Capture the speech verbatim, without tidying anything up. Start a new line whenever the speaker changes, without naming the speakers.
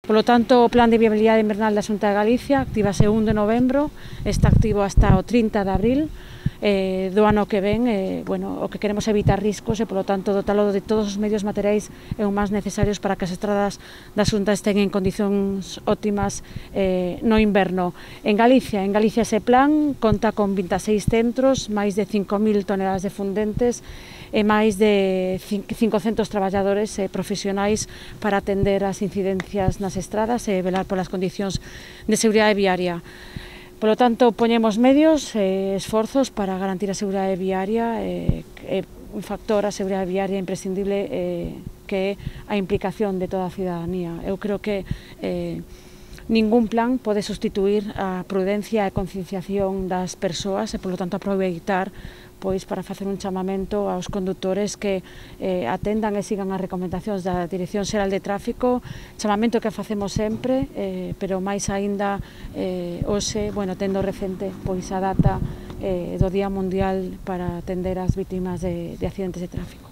Polo tanto, o Plan de Viabilidade Invernal da Xunta de Galicia actívase o un de novembro, está activo hasta o trinta de abril eh, do ano que ven. Eh, bueno, o que queremos é evitar riscos e, polo tanto, dotalo de todos os medios materiais e os máis necesarios para que as estradas da Xunta estén en condicións óptimas eh, no inverno. En Galicia, en Galicia ese plan conta con vinte e seis centros, máis de cinco mil toneladas de fundentes e máis de cincocentos traballadores e profesionais para atender as incidencias nas estradas e velar polas condicións de seguridade viaria. Polo tanto, poñemos medios e esforzos para garantir a seguridade viaria, e, e un factor a seguridade viaria imprescindible eh, que é a implicación de toda a cidadanía. Eu creo que eh, ningún plan pode sustituir a prudencia e concienciación das persoas e, polo tanto, aproveitar pois para facer un chamamento aos condutores que eh, atendan e sigan as recomendacións da Dirección Xeral de Tráfico, chamamento que facemos sempre, eh, pero máis aínda eh, hoxe, bueno, tendo recente pois a data eh, do Día Mundial para atender as vítimas de, de accidentes de tráfico.